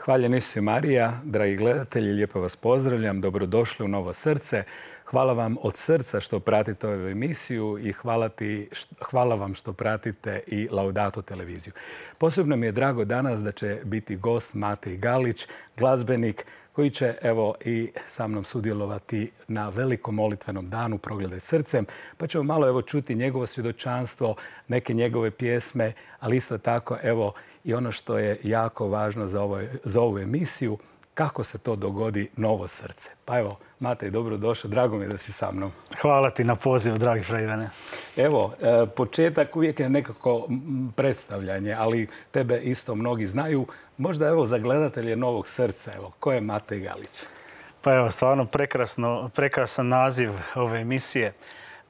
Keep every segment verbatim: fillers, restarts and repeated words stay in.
Hvaljen Isus Marija, dragi gledatelji, lijepo vas pozdravljam, dobrodošli u Novo srce. Hvala vam od srca što pratite ovu emisiju i hvala, ti, hvala vam što pratite i Laudato televiziju. Posebno mi je drago danas da će biti gost Matej Galić, glazbenik koji će evo i sa mnom sudjelovati na velikom molitvenom danu Progledaj srcem, pa ćemo malo evo čuti njegovo svjedočanstvo, neke njegove pjesme, ali isto tako evo i ono što je jako važno za, ovo, za ovu emisiju, kako se to dogodi Novo srce. Pa evo, Matej, dobrodošao, drago mi je da si sa mnom. Hvala ti na pozivu, dragi fra Ivane. Evo, početak uvijek je nekako predstavljanje, ali tebe isto mnogi znaju. Možda evo za gledatelje Novog srca, evo, ko je Matej Galić? Pa evo, stvarno prekrasno, prekrasan naziv ove emisije.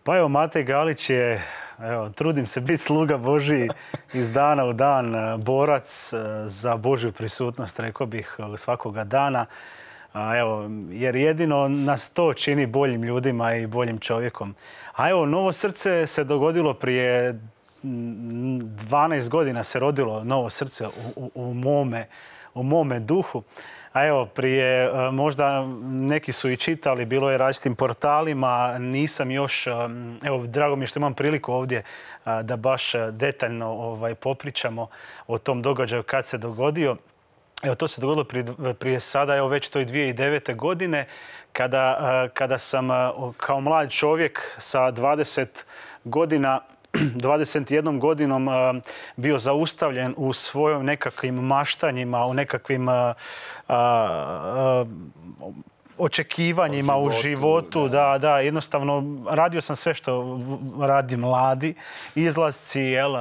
Pa evo, Matej Galić je, evo, trudim se biti sluga Božiji iz dana u dan, borac za Božju prisutnost, rekao bih, svakoga dana. Evo, jer jedino nas to čini boljim ljudima i boljim čovjekom. A evo, Novo srce se dogodilo prije dvanaest godina, se rodilo Novo srce u, u, u, mome, u mome duhu. A evo, prije, možda neki su i čitali, bilo je različitim portalima, nisam još, evo, drago mi je što imam priliku ovdje da baš detaljno ovaj, popričamo o tom događaju kad se dogodio. Evo, to se dogodilo prije, prije sada, evo već to i dvije tisuće devete. godine, kada, kada sam kao mlad čovjek sa dvadeset godina, dvadeset jednom godinom bio zaustavljen u svojim nekakvim maštanjima, u nekakvim a, a, očekivanjima u životu, u životu. Da. da, da, jednostavno radio sam sve što radi mladi, izlasci, jel,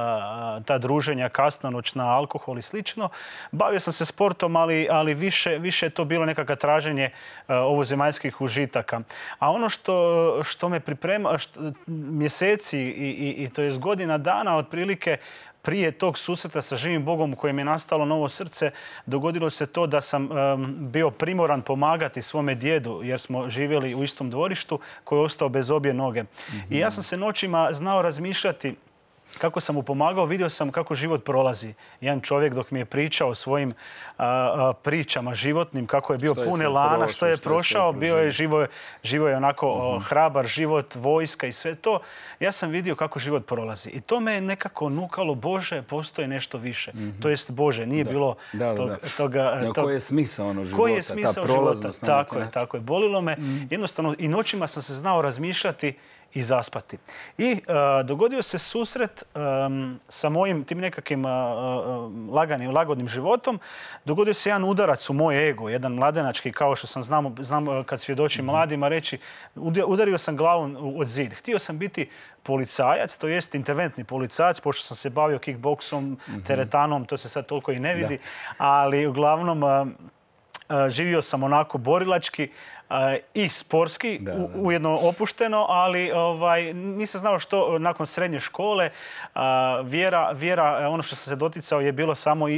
ta druženja, kasnonoćna, alkohol i slično. Bavio sam se sportom, ali, ali više, više je to bilo nekakvo traženje uh, ovozemaljskih užitaka. A ono što, što me priprema što, mjeseci i, i, i to je godina dana otprilike, prije tog susreta sa živim Bogom u kojem je nastalo Novo srce, dogodilo se to da sam um, bio primoran pomagati svome djedu, jer smo živjeli u istom dvorištu, koji je ostao bez obje noge. Mm-hmm. I ja sam se noćima znao razmišljati kako sam mu pomagao, vidio sam kako život prolazi. Jedan čovjek dok mi je pričao o svojim a, a, pričama životnim, kako je bio pun elana, što je prošao, bio je živo, živo je onako uh-huh. hrabar život, vojska i sve to. Ja sam vidio kako život prolazi. I to me je nekako nukalo, Bože, postoji nešto više. Uh-huh. To jest, Bože, nije da. bilo da, da, tog, da. toga... No, tog... koji je smisao ono života? Koji je smisao života? Tako je, tako je. Bolilo me. Uh-huh. Jednostavno, i noćima sam se znao razmišljati i zaspati. I uh, dogodio se susret um, sa mojim tim nekakvim uh, uh, laganim, lagodnim životom. Dogodio se jedan udarac u moj ego, jedan mladenački, kao što sam znam, znam kad svjedočim mm-hmm. mladima reći, udario sam glavom od zid. Htio sam biti policajac, to jest interventni policajac, pošto sam se bavio kickboksom, mm-hmm. teretanom, to se sad toliko i ne vidi, da. Ali uglavnom uh, uh, živio sam onako borilački, Uh, i sportski, da, da. ujedno opušteno, ali ovaj, nisam znao što nakon srednje škole. Uh, vjera, vjera, ono što sam se doticao je bilo samo, uh,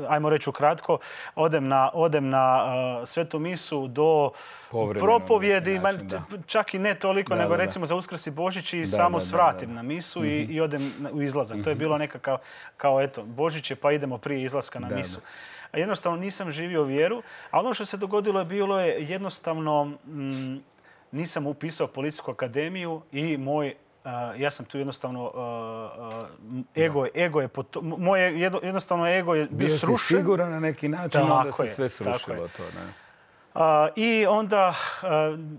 ajmo reći ukratko, odem na, odem na uh, svetu misu do Povremeno, propovjedi, način, čak i ne toliko, da, nego da, recimo da. za Uskrs i Božić i da, samo da, svratim da, da. na misu mm-hmm. i, i odem u izlazak. Mm-hmm. To je bilo nekakav, kao eto, Božić je pa idemo prije izlaska na da, misu. Da. Jednostavno nisam živio vjeru, a ono što se dogodilo je bilo je jednostavno m, nisam upisao Policijsku akademiju i moj, uh, ja sam tu jednostavno, uh, uh, ego, ego je, moje jednostavno ego je bio srušen. Bio si siguran na neki način, tako onda se je, sve srušilo to, ne? Uh, I onda uh,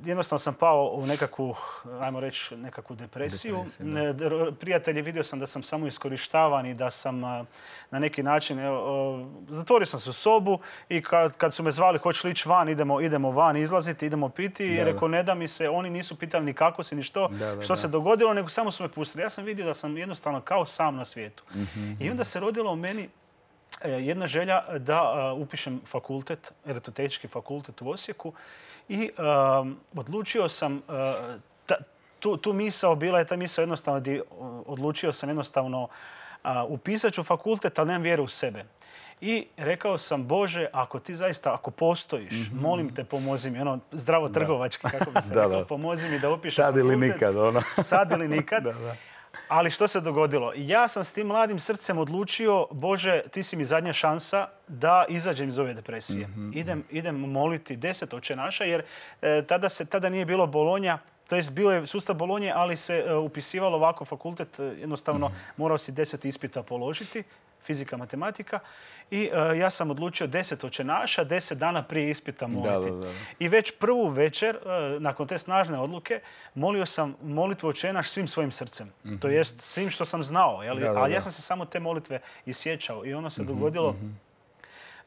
jednostavno sam pao u nekakvu, ajmo reći, nekakvu depresiju. depresiju Prijatelji, vidio sam da sam samo iskorištavan i da sam uh, na neki način, uh, zatvorio sam se u sobu i kad, kad su me zvali hoće li ići van, idemo, idemo van izlaziti, idemo piti. Da, i rekao ne da mi se, oni nisu pitali ni kako si, ni što, da, da, što da. se dogodilo, nego samo su me pustili. Ja sam vidio da sam jednostavno kao sam na svijetu. Mm-hmm. I onda se rodilo u meni jedna želja da uh, upišem fakultet, elektrotehnički fakultet u Osijeku i uh, odlučio sam, uh, ta, tu, tu misao, bila je ta misao jednostavno, di, uh, odlučio sam jednostavno uh, upisat ću fakultet, ali nemam vjeru u sebe. I rekao sam, Bože, ako ti zaista, ako postojiš, mm-hmm. molim te, pomozi mi, ono, zdravo trgovački, kako bi se rekao, pomozi mi da upišem sad fakultet. Sad ili nikad, ono. Sad ili nikad. da, da. Ali što se dogodilo? Ja sam s tim mladim srcem odlučio, Bože, ti si mi zadnja šansa da izađem iz ove depresije. Mm-hmm. Idem, idem moliti deset Oče naša, jer e, tada, se, tada nije bilo Bolonja, to jest bio je sustav Bolonje, ali se e, upisivalo ovako fakultet, jednostavno mm-hmm. morao si deset ispita položiti, fizika, matematika. I e, ja sam odlučio deset Oče naša, deset dana prije ispita moliti. Da, da, da. I već prvu večer, e, nakon te snažne odluke, molio sam molitvu Oče naš svim svojim srcem. Mm-hmm. To jest svim što sam znao. Jeli? Da, da, da. Ali ja sam se samo te molitve isjećao. I ono se mm-hmm, dogodilo mm-hmm.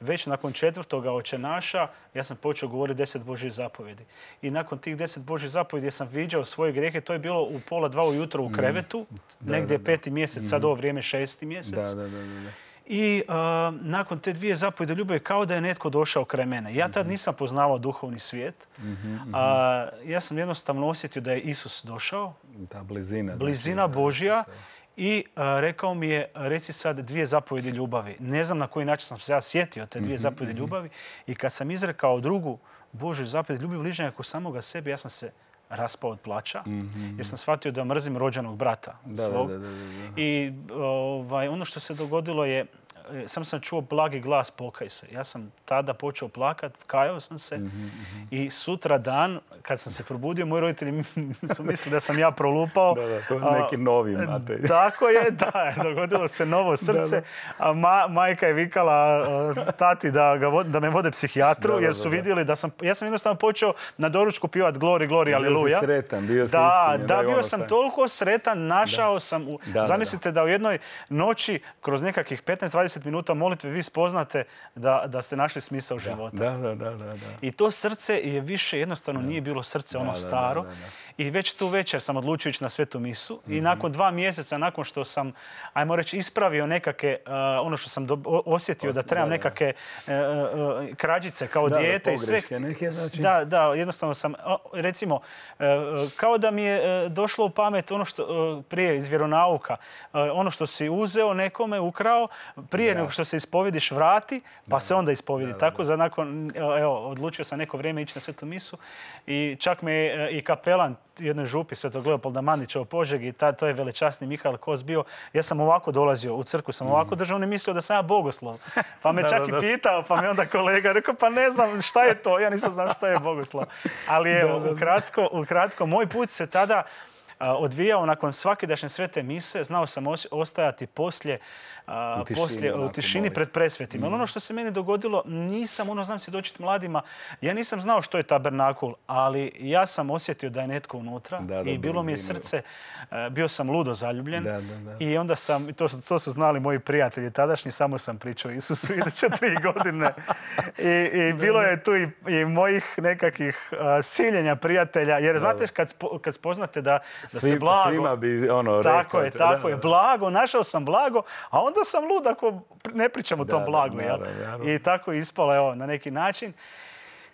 već nakon četvrtoga Oče naša, ja sam počeo govoriti deset Božjih zapovjedi. I nakon tih deset Božjih zapovjedi sam viđao svoje grijehe. To je bilo u pola dva ujutro u krevetu. Mm. Da, negdje da, da. peti mjesec, mm. sad ovo vrijeme šesti mjesec. Da, da, da, da. I uh, nakon te dvije zapovjedi ljubavi kao da je netko došao kraj mene. Ja tad nisam poznavao duhovni svijet. Mm-hmm, mm-hmm. Uh, ja sam jednostavno osjetio da je Isus došao. Ta blizina. Blizina znači, Božja. Da, I uh, rekao mi je, reci sad dvije zapovjedi ljubavi. Ne znam na koji način sam se ja sjetio te dvije mm-hmm, zapovjedi mm-hmm. ljubavi. I kad sam izrekao drugu Božju zapovjed ljubavi bližnjega kao samoga sebe, ja sam se raspao od plača, mm-hmm. jer sam shvatio da mrzim rođenog brata da, svog. Da, da, da, da. I ovaj, ono što se dogodilo je, sam sam čuo blagi glas pokaj se. Ja sam tada počeo plakat, kajao sam se mm-hmm. i sutra dan, kad sam se probudio, moji roditelji su mislili da sam ja prolupao. Da, da, to je neki novi Matej. Tako je, da, dogodilo se novo srce. Da, da. A ma, majka je vikala tati da, ga, da me vode psihijatru, da, da, jer su vidjeli da sam, ja sam jednostavno počeo na doručku pivati Glori, Glori, Aleluja. Bio si sretan, bio si da, ispunjen. Da, bio sam toliko sretan, našao da. sam, u, da, zamislite da, da. da u jednoj noći, kroz nekakvih petnaest dvadeset minuta molitve vi spoznate da, da ste našli smisao života. Da, da, da, da, da. I to srce je više, jednostavno da. nije bilo srce ono da, staro. Da, da, da, da. I već tu večer sam odlučio ići na Svetu misu. Mm-hmm. I nakon dva mjeseca, nakon što sam, ajmo reći, ispravio nekake, uh, ono što sam do, osjetio Os, da trebam da, da. nekake uh, uh, krađice kao da, dijete da, i sve. Neke, znači... Da, da, jednostavno sam, recimo, uh, kao da mi je uh, došlo u pamet ono što uh, prije iz vjeronauka, uh, ono što si uzeo nekome, ukrao, prije da. nego što se ispovjediš vrati, pa da, se onda ispovjedi. Da, da, Tako, da. za nakon, evo, odlučio sam neko vrijeme ići na Svetu misu i čak me uh, i kapelan jednoj župi Svetog Leopolda Mandića u Požegi, ta, to je velečasni Mihael Kos bio. Ja sam ovako dolazio u crkvu, sam ovako držao, on je mislio da sam ja bogoslov. Pa me čak da, i pitao, pa me onda kolega rekao, pa ne znam šta je to, ja nisam znao šta je bogoslov. Ali evo, ukratko, ukratko, moj put se tada odvijao nakon svakidašnje svete mise, znao sam ostajati poslije u tišini, poslije, u tišini pred presvetima. Mm. Ono što se meni dogodilo, nisam, ono znam svjedočiti mladima, ja nisam znao što je tabernakul, ali ja sam osjetio da je netko unutra da, da, i bilo mi je srce, bio sam ludo zaljubljen da, da, da. i onda sam, to, to su znali moji prijatelji tadašnji, samo sam pričao Isusu iduće tri godine. I, i bilo je tu i, i mojih nekakvih uh, siljenja prijatelja, jer znate kad, spo, kad spoznate da, da ste blago. Svima bi ono tako rekao. je, tako da, je, blago, našao sam blago, a onda sam lud ako ne pričam o tom da, blagu. Da, da, da, I tako je ispalo evo, na neki način.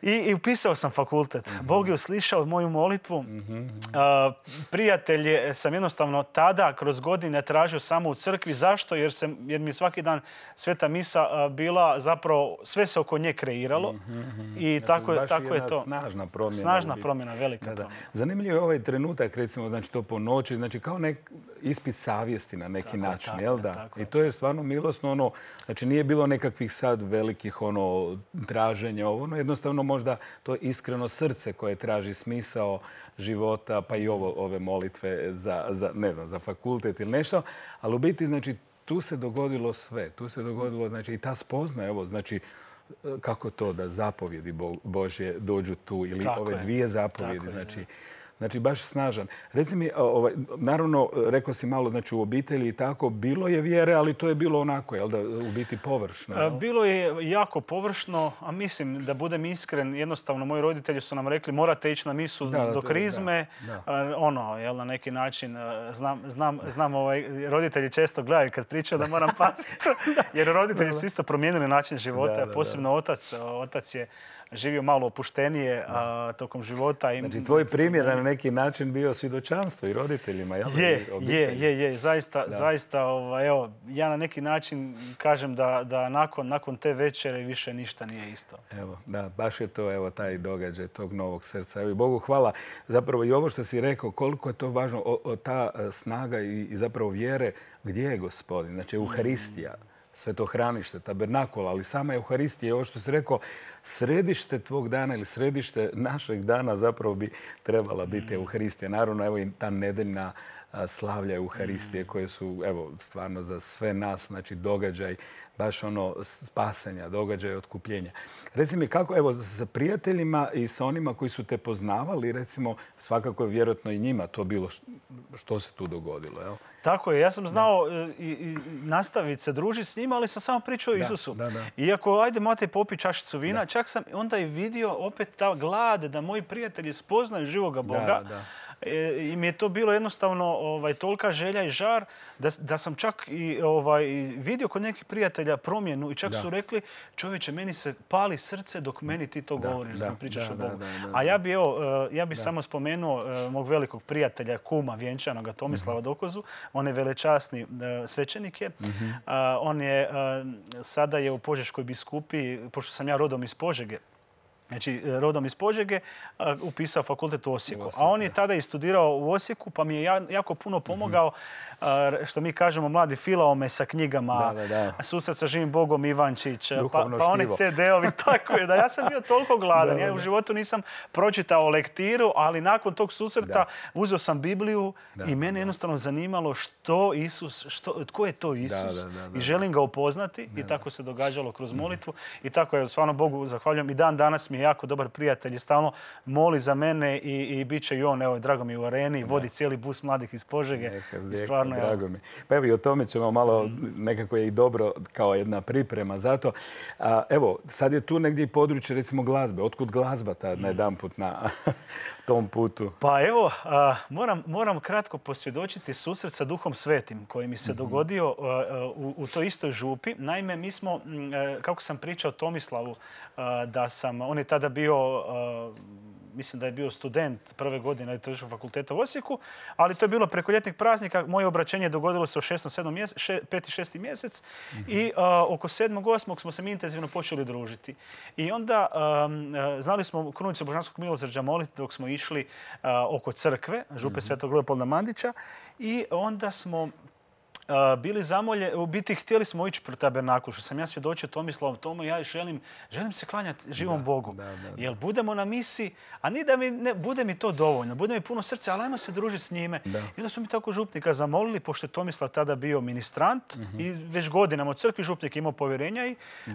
I, i upisao sam fakultet. Mm-hmm. Bog je uslišao moju molitvu. Mm-hmm. Uh, prijatelj je, sam jednostavno tada kroz godine tražio samo u crkvi. Zašto? Jer, se, jer mi svaki dan sveta misa uh, bila zapravo, sve se oko nje kreiralo. Mm-hmm. I znači, tako, je, tako je to. Snažna promjena. Snažna promjena, velika da, da. promjena. Zanimljiv je ovaj trenutak, recimo, znači to po noći, znači kao nek ispit savjesti na neki tako, način, tako, jel da? Tako, I to je stvarno milosno, ono, znači nije bilo nekakvih sad velikih ono traženja, ono jednostavno možda to iskreno srce koje traži smisao života, pa i ovo, ove molitve za, za, ne znam, za fakultet ili nešto. Ali u biti, znači, tu se dogodilo sve. Tu se dogodilo, znači, i ta spoznaja, evo, znači, kako to da zapovjedi Božje dođu tu ili tako ove je. dvije zapovjedi, tako znači, je, znači baš snažan. Reci mi, ovaj, naravno, rekao si malo, znači u obitelji i tako, bilo je vjere, ali to je bilo onako, jel da, u biti površno? Jel? Bilo je jako površno, a mislim, da budem iskren, jednostavno moji roditelji su nam rekli morate ići na misu da, do krizme, da, da. ono, jel, na neki način, znam, znam, znam ovaj, roditelji često gledaju kad pričaju da moram paziti, jer roditelji su isto promijenili način života, da, da, posebno da. otac, otac je živio malo opuštenije a, tokom života. I, znači, tvoj primjer na neki način bio svjedočanstvo i roditeljima, jel? Je, je, je, je. Zaista, zaista ovaj, evo, ja na neki način kažem da, da nakon, nakon te večere više ništa nije isto. Evo, da, baš je to, evo, taj događaj tog novog srca. Evo, i Bogu hvala. Zapravo i ovo što si rekao, koliko je to važno, o, o, ta snaga i, i zapravo vjere, gdje je Gospodin? Znači, Euharistija. Svetohranište, tabernakola, ali sama Euharistija je ovo što si rekao, središte tvog dana ili središte našeg dana zapravo bi trebala biti Euharistija. Naravno, evo i ta nedeljna slavlja Euharistije koje su, evo, stvarno za sve nas, znači događaj, baš ono spasenja, događaj otkupljenja. Reci mi kako, evo, sa prijateljima i sa onima koji su te poznavali, recimo, svakako je vjerojatno i njima to bilo što se tu dogodilo, jel? Tako je, ja sam znao i, i nastaviti se družiti s njima, ali sam samo pričao o Isusu. Da, da. Iako, ajde, Matej, popi čašicu vina, da. Čak sam onda i vidio opet ta glad da moji prijatelji spoznaju živoga Boga. Da, da. I mi je to bilo jednostavno ovaj, tolika želja i žar da, da sam čak i ovaj, vidio kod nekih prijatelja promjenu i čak da. Su rekli, čovječe, meni se pali srce dok meni ti to da, govoriš, da, da pričaš da, o Bogu. Da, da, da, A ja bi, evo, ja bi samo spomenuo mog velikog prijatelja, kuma vjenčanoga Tomislava mm-hmm. Dokozu. On je velečasni svećenik je. Mm-hmm. On je, sada je u Požeškoj biskupiji, pošto sam ja rodom iz Požege, znači rodom iz Požege, upisao fakultet u Osijeku. A on je tada i studirao u Osijeku, pa mi je jako puno pomogao, što mi kažemo, mladi filao me sa knjigama, da, da, da. Susret sa živim Bogom Ivančić, pa, pa oni ce de-ovi, tako je. Da, ja sam bio toliko gladan, da, ja u životu nisam pročitao lektiru, ali nakon tog susreta da. Uzeo sam Bibliju da, i mene da. Jednostavno zanimalo što Isus, što, tko je to Isus, da, da, da, da. I želim ga upoznati da, da. I tako se događalo kroz molitvu i tako je, stvarno Bogu zahvaljujem. I dan danas mi je jako dobar prijatelj i stalno moli za mene i, i bit će i on, evo, drago mi u Areni, vodi cijeli bus mladih iz Požege. Neka, i stvarno, neka, drago mi. Pa evo i o tome ćemo malo, mm. nekako je i dobro kao jedna priprema za to. A, evo, sad je tu negdje i područje, recimo, glazbe. Otkud glazba tad mm. na jedan put na tom putu? Pa evo, a, moram, moram kratko posvjedočiti susret sa Duhom Svetim koji mi se mm-hmm. dogodio a, u, u toj istoj župi. Naime, mi smo, a, kako sam pričao Tomislavu, a, da sam, on je tada bio, uh, mislim da je bio student prve godine Liturškog fakulteta u Osijeku, ali to je bilo preko ljetnih praznika. Moje obraćenje dogodilo se u šestom, sedmom mjesec, še, peti, šesti mjesec mm-hmm. i uh, oko sedmog, osmog smo se mi intenzivno počeli družiti. I onda um, znali smo krunicu Božanskog milosrđa moliti dok smo išli uh, oko crkve, župe mm-hmm. Svetog Leopolda Mandića, i onda smo bili zamolje, u biti htjeli smo ići pro tabernakul, što sam ja svjedočio Tomislavom tomu, ja želim, želim se klanjati živom da, Bogu. Da, da, da. Jer budemo na misiji, a ni da mi ne, bude mi to dovoljno, bude mi puno srca, ali ajmo se družiti s njime. Da. I onda su mi tako župnika zamolili, pošto je Tomislav tada bio ministrant uh-huh. i već godinama u crkvi župnik imao povjerenja i uh,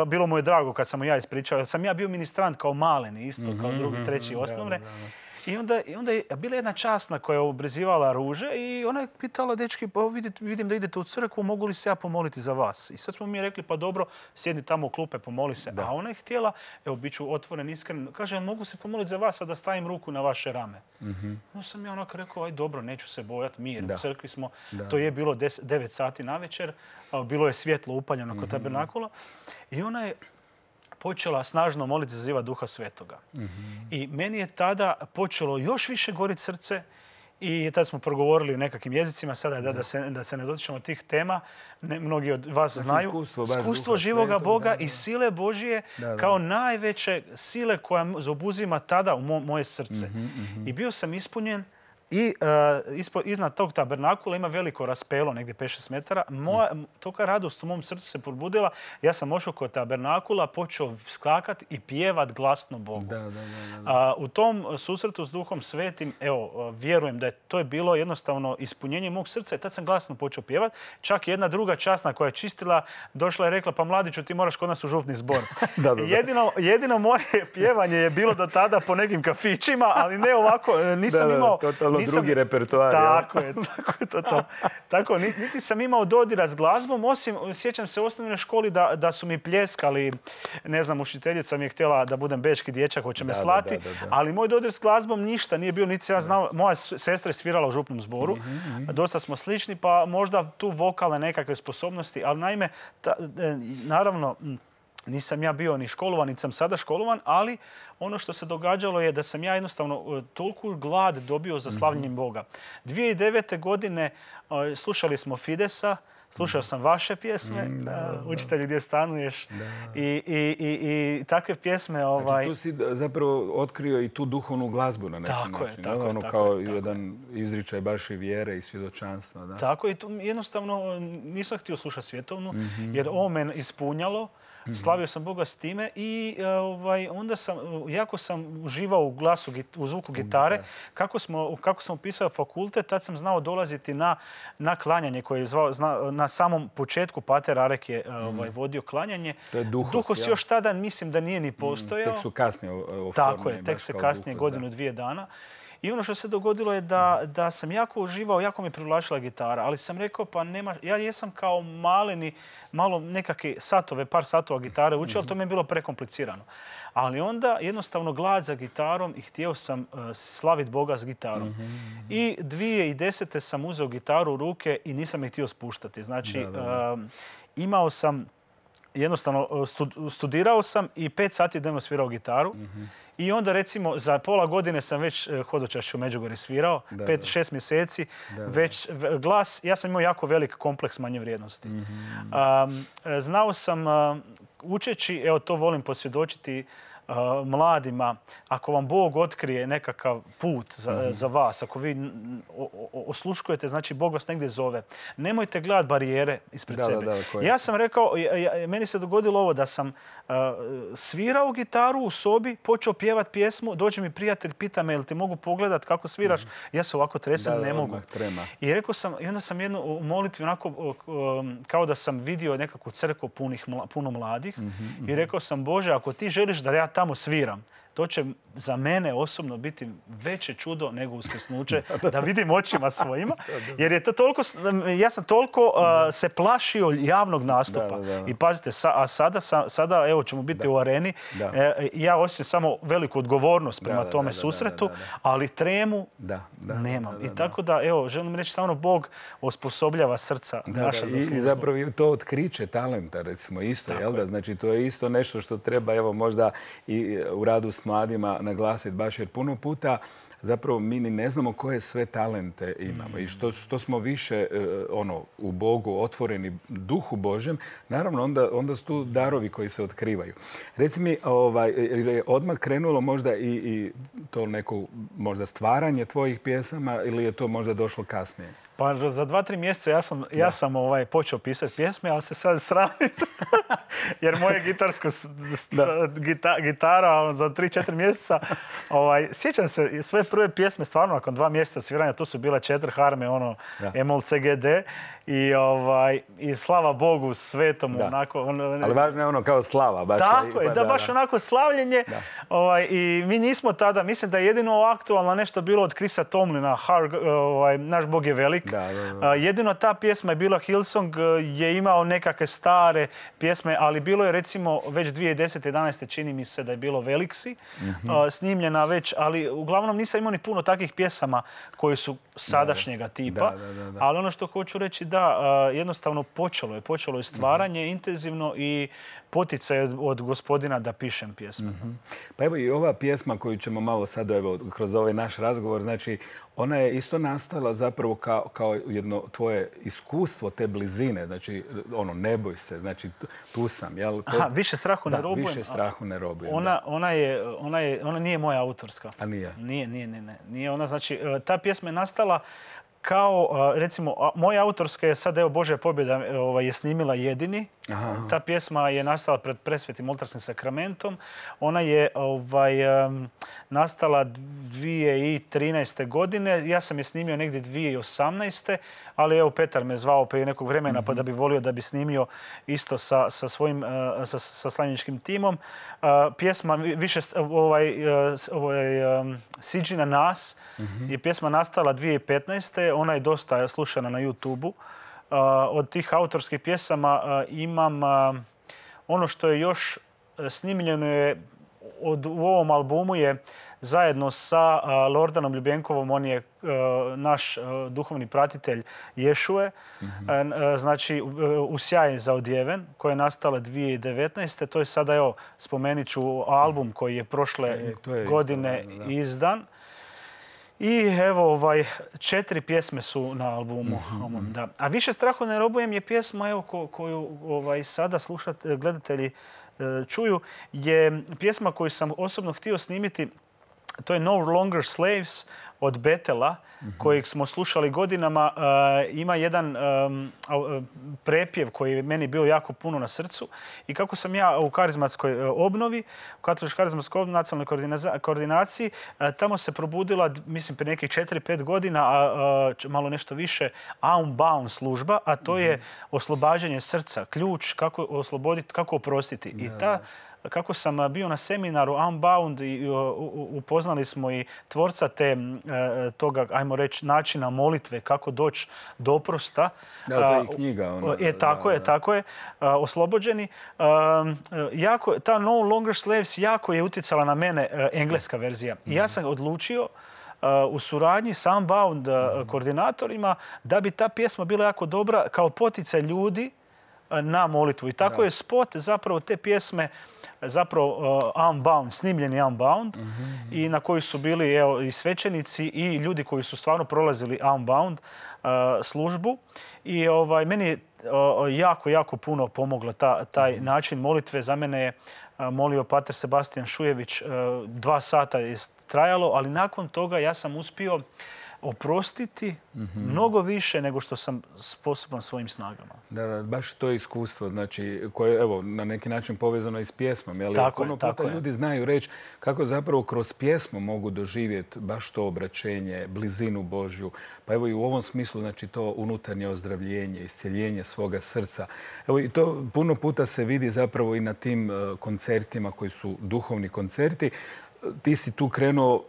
bilo mu je drago kad sam mu ja ispričao. Sam ja bio ministrant kao maleni, isto uh-huh, kao drugi, treći uh-huh, osnovne. Da, da, da. I onda, i onda je bila jedna časna koja je obrizivala ruže i ona je pitala, dečki, pa vidim, vidim da idete u crkvu, mogu li se ja pomoliti za vas? I sad smo mi rekli, pa dobro, sjedni tamo u klupe, pomoli se. Da. A ona je htjela, evo, bit ću otvoren, iskren, kaže, mogu se pomoliti za vas, a da stavim ruku na vaše rame. Mm-hmm. No sam ja onako rekao, aj dobro, neću se bojati, mir. Da. U crkvi smo, da. To je bilo devet sati na večer, bilo je svjetlo upaljeno kod mm-hmm. tabernakula i ona je počela snažno moliti za ziva Duha Svetoga. Mm-hmm. I meni je tada počelo još više goriti srce i tada smo progovorili o nekakvim jezicima. Sada da, da, da, se, da se ne dotičemo tih tema. Ne, mnogi od vas znači, znaju. Iskustvo, iskustvo živoga Svetoga, Boga da, da. I sile Božije da, da. Kao najveće sile koja zaobuzima tada u mo, moje srce. Mm-hmm, mm-hmm. I bio sam ispunjen. I uh, ispo, iznad tog tabernakula ima veliko raspelo, negdje pet šest metara. Moja, mm. Toka radost u mom srcu se probudila. Ja sam ošao kod tabernakula, počeo skakati i pjevat glasno Bogu. Da, da, da, da. Uh, u tom susretu s Duhom Svetim, evo, vjerujem da je to je bilo jednostavno ispunjenje mog srca i tad sam glasno počeo pjevat. Čak jedna druga časna koja je čistila, došla i rekla, pa mladiću, ti moraš kod nas u župni zbor. da, da, da. Jedino, jedino moje pjevanje je bilo do tada po nekim kafićima, ali ne ovako, nisam da, imao... Da, to, Nisam, drugi repertoar. Tako je, tako je to. to. Tako, niti sam imao dodira s glazbom, osim, sjećam se u osnovnoj školi da, da su mi pljeskali, ne znam, učiteljica mi je htjela da budem bečki dječak, hoće me slati, da, da, da, da. Ali moj dodir s glazbom ništa nije bio, niti ja znao, moja sestra je svirala u župnom zboru, mm-hmm. dosta smo slični, pa možda tu vokalne nekakve sposobnosti, ali naime, ta, naravno, nisam ja bio ni školovan, niti sam sada školovan, ali ono što se događalo je da sam ja jednostavno toliko glad dobio za slavljenjem Boga. dvije tisuće devete. godine slušali smo Fidesa, slušao sam vaše pjesme, da, Učitelju gdje stanuješ, i, i, i, i takve pjesme. Ovaj... Znači tu si zapravo otkrio i tu duhovnu glazbu na neki tako način. Je, tako ono je, kao tako jedan je. izričaj baš i vjere i svjedočanstva. Da. Tako je, jednostavno nisam htio slušati svjetovnu, mm-hmm. jer ovo me ispunjalo. Slavio sam Boga s time i ovaj, onda sam, jako sam uživao u glasu, u zvuku gitare. Kako, smo, kako sam upisao fakultet, tad sam znao dolaziti na, na klanjanje koje je zvao, zna, na samom početku Pater Arek je ovaj, vodio klanjanje. To je Duhos, Duhos još tada mislim da nije ni postojao. Tek su kasnije oformljeni. Tako je, tek se kasnije, Duhos, godinu, da. dvije dana. I ono što se dogodilo je da, da sam jako uživao, jako mi privlačila gitara, ali sam rekao pa nema, ja jesam kao maleni, malo nekakve satove, par satova gitare učio, ali to mi je bilo prekomplicirano. Ali onda jednostavno glad za gitarom i htio sam uh, slaviti Boga s gitarom. Mm-hmm. I dvije tisuće desete. sam uzeo gitaru u ruke i nisam je htio spuštati. Znači, da, da, da. Uh, imao sam, jednostavno studirao sam i pet sati dnevno svirao gitaru. Mm-hmm. I onda recimo za pola godine sam već hodočašće u Međugorju svirao, da, pet, da. šest mjeseci, da, već glas, ja sam imao jako velik kompleks manje vrijednosti. Mm-hmm. Um, znao sam uh, učeći, evo to volim posvjedočiti uh, mladima, ako vam Bog otkrije nekakav put za, mm-hmm. za vas, ako vi o, o, osluškujete, znači Bog vas negdje zove, nemojte gledati barijere ispred da, sebe. Da, da, ja sam rekao, ja, ja, meni se dogodilo ovo da sam uh, svirao gitaru u sobi, počeo pjevat pjesmu, dođe mi prijatelj, pita me, jel ti mogu pogledat kako sviraš? Mm-hmm. Ja se ovako tresem, da, ne da, mogu. Trema. I rekao sam, i onda sam jednu u molitvi onako, um, kao da sam vidio nekakvu crkvu punih, puno mladih, mm-hmm. i rekao sam, Bože, ako ti želiš da ja tamo sviram, to će za mene osobno biti veće čudo nego uskrsnuće, da vidim očima svojima. Jer je to toliko, ja sam toliko uh, se plašio javnog nastupa. Da, da, da. I pazite, sa, a sada, sa, sada evo ćemo biti da. u areni. E, ja osjećam samo veliku odgovornost prema da, tome da, da, susretu, da, da, da. ali tremu da, da, nemam. Da, da, da. I tako da, evo, želim reći samo Bog osposobljava srca da, naša da, za službu. I zapravo je to otkriće talenta, recimo, isto, jel da? Znači, to je isto nešto što treba, evo, možda i u radu s mladima naglasiti baš, jer puno puta zapravo mi ni ne znamo koje sve talente imamo. I što, što smo više ono, u Bogu otvoreni duhu Božjem, naravno onda, onda su tu darovi koji se otkrivaju. Reci mi, ovaj, je odmah krenulo možda i, i to neko možda stvaranje tvojih pjesama ili je to možda došlo kasnije? Pa za dva, tri mjeseca ja sam, ja sam ovaj, počeo pisati pjesme, ali se sad sramim. Jer moje gitarsko gita, gitara za tri, četiri mjeseca, ovaj, sjećam se sve prve pjesme stvarno nakon dva mjeseca sviranja, to su bile četiri harme, ono, Emol C G D. I, ovaj, i slava Bogu svetom. Da. Onako, on, ali važno je ono kao slava. Baš tako je, pa, da, da, baš da. onako slavljenje. Ovaj, I mi nismo tada, mislim da je jedino aktualno nešto bilo od Chrisa Tomlina, Har, ovaj, Naš Bog je velik. Da, da, da. Jedino ta pjesma je bila Hillsong, je imao nekakve stare pjesme, ali bilo je recimo već dvije tisuće desete. jedanaeste. čini mi se da je bilo Veliksi, mm-hmm. snimljena već, ali uglavnom nisam imao ni puno takvih pjesama koji su sadašnjega tipa. Da, da, da, da. Ali ono što hoću reći da, jednostavno počelo je, počelo je stvaranje mm-hmm. intenzivno i poticaj od, od gospodina da pišem pjesme. Mm-hmm. Pa evo i ova pjesma koju ćemo malo sad evo, kroz ovaj naš razgovor, znači ona je isto nastala zapravo kao, kao jedno tvoje iskustvo te blizine, znači ono ne boj se, znači tu sam. Jel? To... Aha, više strahu da, ne robujem. više strahu ne robujem. Ona, ona, je, ona, je, ona nije moja autorska. A nije? Nije, nije, nije. nije. nije ona, znači, ta pjesma je nastala kao, recimo, moja autorska je sad, evo, Božja pobjeda ovaj, je snimila Jedini. Aha. Ta pjesma je nastala pred Presvetim oltarskim sakramentom. Ona je ovaj, um, nastala dvije tisuće trinaeste. godine. Ja sam je snimio negdje dvije tisuće osamnaeste. Ali evo, Petar me zvao prije nekog vremena mm-hmm. pa da bi volio da bi snimio isto sa, sa svojim uh, sa, sa slavljeničkim timom. Uh, pjesma više ovaj, uh, ovaj, um, Siđi na nas mm-hmm. je pjesma nastala dvije tisuće petnaeste. Ona je dosta slušana na YouTubeu. Uh, od tih autorskih pjesama uh, imam uh, ono što je još snimljeno je od, u ovom albumu je zajedno sa Lordanom Ljubenkovom, on je naš duhovni pratitelj Ješue, mm-hmm. znači u sjaj za odjeven, koja je nastala dvije tisuće devetnaeste. To je sada, evo, spomenut ću album koji je prošle e, je godine isto, da. izdan. I evo, ovaj, četiri pjesme su na albumu. Mm-hmm. Da. A Više strahu ne robujem je pjesma, evo, ko, koju ovaj, sada slušate, gledatelji čuju, je pjesma koju sam osobno htio snimiti. To je No Longer Slaves od Betela, mm-hmm. kojeg smo slušali godinama. Uh, ima jedan um, prepjev koji je meni bio jako puno na srcu. I kako sam ja u karizmatskoj obnovi, u katoličkoj karizmatskoj obnovi, nacionalnoj koordinaciji, uh, tamo se probudila, mislim, prije nekih četiri pet godina, a uh, malo nešto više, Unbound služba, a to mm-hmm. je oslobađanje srca, ključ kako osloboditi, kako oprostiti. Da, I ta kako sam bio na seminaru Unbound i upoznali smo i tvorca te, toga, ajmo reći, načina molitve, kako doći do oprosta. Da, to je i knjiga. Ono, je, tako da, je, da. tako je. Oslobođeni. Jako, ta No Longer Slaves jako je utjecala na mene, engleska verzija. I ja sam odlučio u suradnji sa Unbound koordinatorima da bi ta pjesma bila jako dobra kao poticaj ljudi na molitvu. I tako da. je spot zapravo te pjesme zapravo uh, Unbound, snimljeni Unbound, mm-hmm. i na koji su bili, evo, i svećenici i ljudi koji su stvarno prolazili Unbound uh, službu. I ovaj, meni je uh, jako, jako puno pomoglo ta, taj mm-hmm. način molitve. Za mene je uh, molio pater Sebastian Šujević, uh, dva sata je trajalo, ali nakon toga ja sam uspio oprostiti mm-hmm. mnogo više nego što sam sposoban svojim snagama. Da, da, baš to iskustvo, znači, koje je, evo, na neki način povezano i s pjesmom. Jel? Tako puno je, puta tako ljudi je. znaju reći kako zapravo kroz pjesmu mogu doživjeti baš to obraćenje, blizinu Božju. Pa evo i u ovom smislu, znači, to unutarnje ozdravljenje, iscjeljenje svoga srca. Evo i to puno puta se vidi zapravo i na tim koncertima koji su duhovni koncerti. Ti si tu krenuo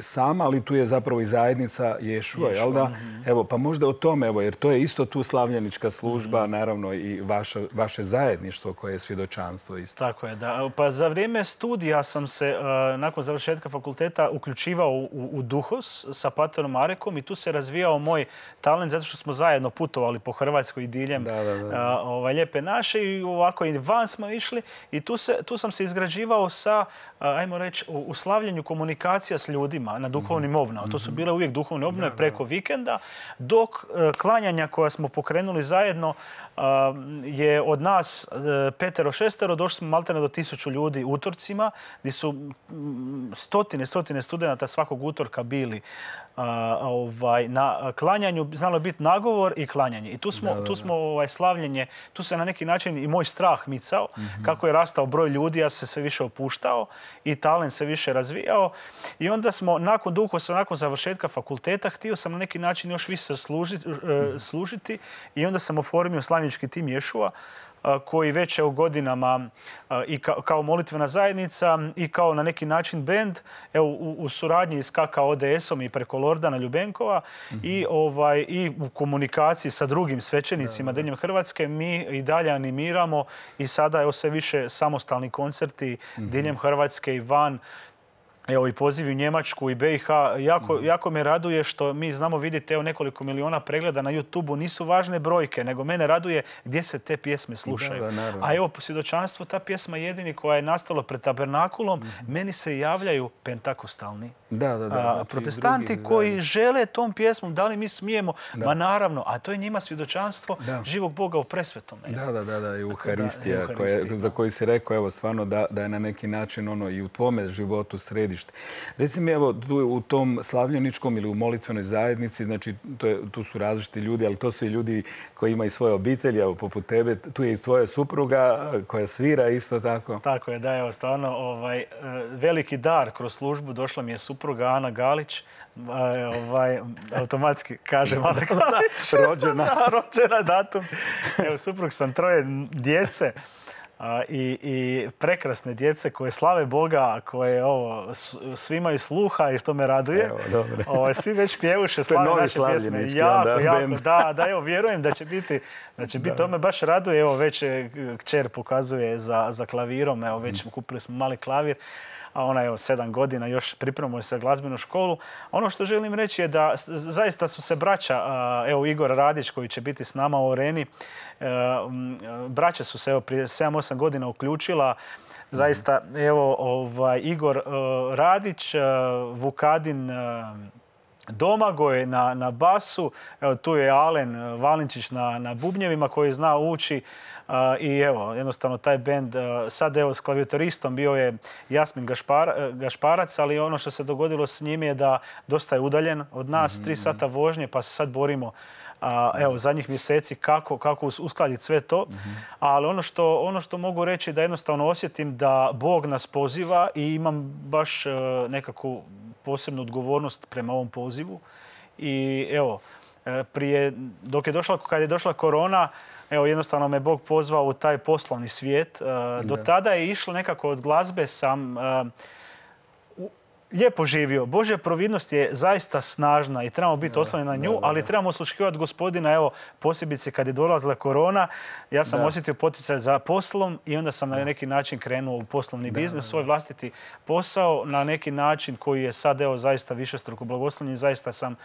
sama, ali tu je zapravo i zajednica Ješua, jel da? Mm-hmm. Evo, pa možda o tome, evo, jer to je isto tu slavljenička služba, mm-hmm. naravno i vaše, vaše zajedništvo koje je svjedočanstvo isto. Tako je, da. Pa za vrijeme studija sam se, uh, nakon završetka fakulteta, uključivao u, u Duhos sa paterom Marekom i tu se razvijao moj talent, zato što smo zajedno putovali po Hrvatskoj i diljem da, da, da. Uh, ovaj, Lijepe naše i ovako i van smo išli i tu, se, tu sam se izgrađivao sa, uh, ajmo reći, u, u slavljenju komunikacija s ljudima na duhovnim obnovama. To su bile uvijek duhovne obnove da, preko da. vikenda, dok uh, klanjanja koja smo pokrenuli zajedno uh, je od nas uh, petero, šestero, došli smo maltene do tisuću ljudi utorcima, gdje su um, stotine, stotine studenata svakog utorka bili uh, ovaj, na klanjanju. Znalo je biti nagovor i klanjanje. I tu smo, da, da, tu smo ovaj, slavljenje, tu se na neki način i moj strah micao, mm-hmm. kako je rastao broj ljudi, ja se sve više opuštao i talent se više razvijao. I onda smo, nakon Duhosa, nakon završetka fakulteta, htio sam na neki način još više služiti, mm-hmm. služiti i onda sam oformio slavljenički tim Ješua, koji već je u godinama i kao molitvena zajednica i kao na neki način bend, evo, u, u suradnji s K K O D S-om i preko Lordana Ljubenkova, mm-hmm. i, ovaj, i u komunikaciji sa drugim svećenicima diljem Hrvatske mi i dalje animiramo i sada je sve više samostalni koncerti mm-hmm. diljem Hrvatske i van. Evo i pozivi u Njemačku i B i H. Jako, mm. jako me raduje što mi znamo vidjeti evo nekoliko miliona pregleda na YouTubeu. Nisu važne brojke, nego mene raduje gdje se te pjesme slušaju. Da, da, a evo po svjedočanstvu ta pjesma jedini koja je nastala pred tabernakulom, mm. meni se javljaju pentakostalni. Da, da, da. Znači, protestanti drugi, koji da. žele tom pjesmom, da li mi smijemo? Da. Ma naravno, a to je njima svjedočanstvo da. živog Boga u presvetome. Da, da, da, da, i Euharistija, koje, za koju si rekao, evo stvarno da, da je na neki način ono i u tvome životu središte. Reci mi, evo, tu u tom slavljeničkom ili u molitvenoj zajednici, znači to je, tu su različiti ljudi, ali to su i ljudi koji imaju svoje obitelji, evo, poput tebe. Tu je i tvoja supruga koja svira isto tako. Tako je, da, evo, stvarno ovaj, veliki dar kroz službu. Došla mi je supruga Ana Galić, ovaj, automatski kažem Ana Galić. Rođena. Da, rođena datum. Evo, suprug sam, troje djece. A, i, i prekrasne djece koje slave Boga, koje ovo, svi imaju sluha i što me raduje. Evo, dobro. Ovo, svi već pjevuše, slave naše pjesme. Jako, onda, jako, da, da, evo, vjerujem da će biti, da će biti, to me baš raduje. Evo, već kćer pokazuje za, za klavirom, evo, već kupili smo mali klavir. a ona je sedam godina, još pripremuje se glazbenu školu. Ono što želim reći je da zaista su se braća, evo Igor Radić koji će biti s nama u Areni, braća su se evo prije sedam osam godina uključila. Zaista, evo, ovaj, Igor Radić, Vukadin Domagoj na, na basu, evo tu je Alen Valinčić na, na bubnjevima koji zna ući. Uh, I evo, jednostavno taj bend, uh, sad evo s klavijatoristom bio je Jasmin Gašpar, Gašparac, ali ono što se dogodilo s njim je da dosta je udaljen od nas, mm-hmm. tri sata vožnje, pa se sad borimo uh, evo, zadnjih mjeseci kako, kako uskladiti sve to. Mm-hmm. Ali ono što, ono što mogu reći da jednostavno osjetim da Bog nas poziva i imam baš uh, nekakvu posebnu odgovornost prema ovom pozivu. I evo, prije, dok je došla, kad je došla korona, evo, jednostavno me Bog pozvao u taj poslovni svijet. Do tada je išlo nekako od glazbe, sam uh, lijepo živio. Božja providnost je zaista snažna i trebamo biti oslonjeni na nju, da, da, da. ali trebamo osluškivati Gospodina. Evo, posebice kad je dolazila korona, ja sam da. osjetio poticaj za poslom i onda sam da. na neki način krenuo u poslovni da, biznis, da, da. svoj vlastiti posao na neki način koji je sad evo zaista višestruko blagoslovljen. Zaista sam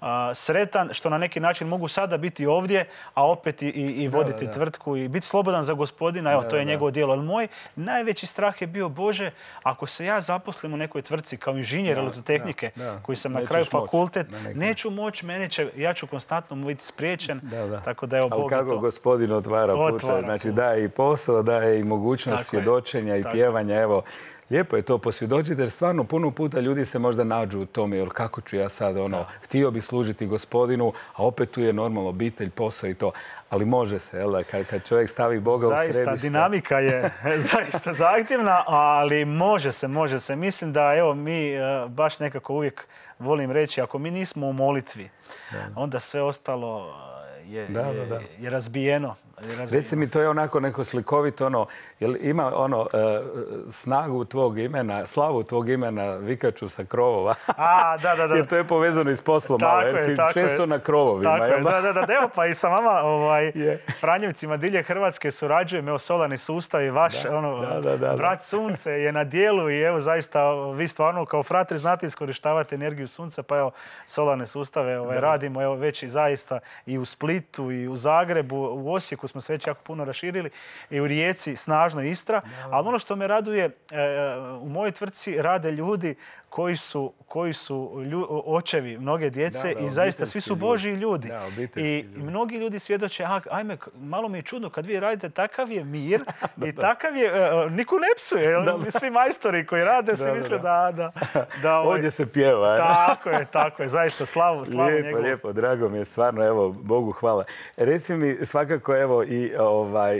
Uh, sretan što na neki način mogu sada biti ovdje, a opet i, i voditi da, da, da. tvrtku i biti slobodan za Gospodina. Evo, da, to je da, njegovo djelo. Ali moj najveći strah je bio, Bože, ako se ja zaposlim u nekoj tvrtci kao inženjer elektrotehnike, koji sam na kraju fakultet, moć, na neću moći, mene će, ja ću konstantno biti spriječen. Da, da. Tako da, evo, ali Bog kako to Gospodin otvara puteve, znači daje i posao, daje i mogućnost tako svjedočenja je. i tako pjevanja. Evo, lijepo je to posvjedočiti jer stvarno puno puta ljudi se možda nađu u tome, jer kako ću ja sad ono, da. htio bi služiti Gospodinu, a opet tu je normalno obitelj, posao i to. Ali može se, jel da, kad, kad čovjek stavi Boga zaista, u središte. Zaista, dinamika je zaista zahtjevna, ali može se, može se. Mislim da evo mi baš nekako uvijek volim reći, ako mi nismo u molitvi, da. onda sve ostalo je, da, je, da, da. je razbijeno. Reci mi, to je onako neko slikovito, ono, jel ima ono uh, snagu tvog imena, slavu tvog imena vikaču sa krovova? A, da, da, da. Jer to je povezano i s poslom malo, jer si često je. na krovovima. Tako je, da, da, da, evo pa i sa vama ovaj, yeah. Franjevcima dilje Hrvatske surađujem, evo solarni sustav i vaš da, ono, da, da, da, brat sunce je na dijelu i evo zaista vi stvarno kao fratri znate iskorištavati energiju sunca, pa evo solarne sustave ovaj, radimo evo već i zaista i u Splitu i u Zagrebu, u Osijeku smo se već jako puno raširili i u Rijeci snažno Istra. No. Ali ono što me raduje, u mojoj tvrtci rade ljudi koji su, koji su lju, očevi mnoge djece da, da, i zaista svi su Božji ljudi. Da, I ljudi. mnogi ljudi svjedoče, a, ajme, malo mi je čudno kad vi radite, takav je mir da, i da. takav je, uh, niko ne psuje. Da, da. Svi majstori koji rade da, se misle da... da, da, da ovaj, ovdje se pjeva. Je. Tako je, tako je, zaista slavu, slavu lijepo, njegovu. Lijepo, drago mi je, stvarno, evo, Bogu hvala. Reci mi svakako, evo, i ovaj...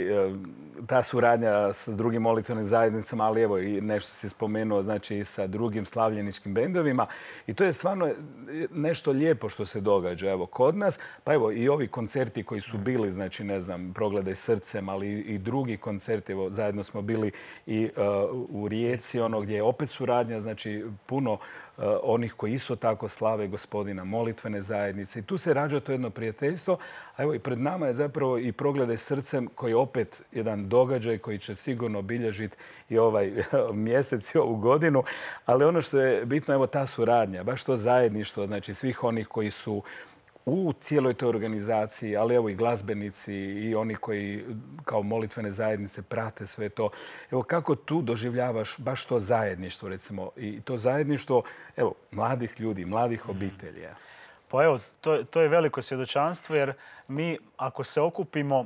ta suradnja s drugim molitvenim zajednicama, ali evo i nešto si spomenuo, znači sa drugim slavljeničkim bendovima. I to je stvarno nešto lijepo što se događa evo kod nas. Pa evo i ovi koncerti koji su bili, znači ne znam, Progledaj srcem, ali i drugi koncerti. Evo zajedno smo bili i uh, u Rijeci, ono gdje je opet suradnja, znači puno Uh, onih koji isto tako slave Gospodina, molitvene zajednice. I tu se rađa to jedno prijateljstvo. A evo i pred nama je zapravo i Progledaj srcem koji je opet jedan događaj koji će sigurno obilježiti i ovaj mjesec i ovu godinu. Ali ono što je bitno, evo ta suradnja, baš to zajedništvo, znači svih onih koji su u cijeloj toj organizaciji, ali evo i glazbenici i oni koji kao molitvene zajednice prate sve to. Evo kako tu doživljavaš baš to zajedništvo, recimo, i to zajedništvo, evo, mladih ljudi, mladih obitelji? Pa evo, to, to je veliko svjedočanstvo jer mi ako se okupimo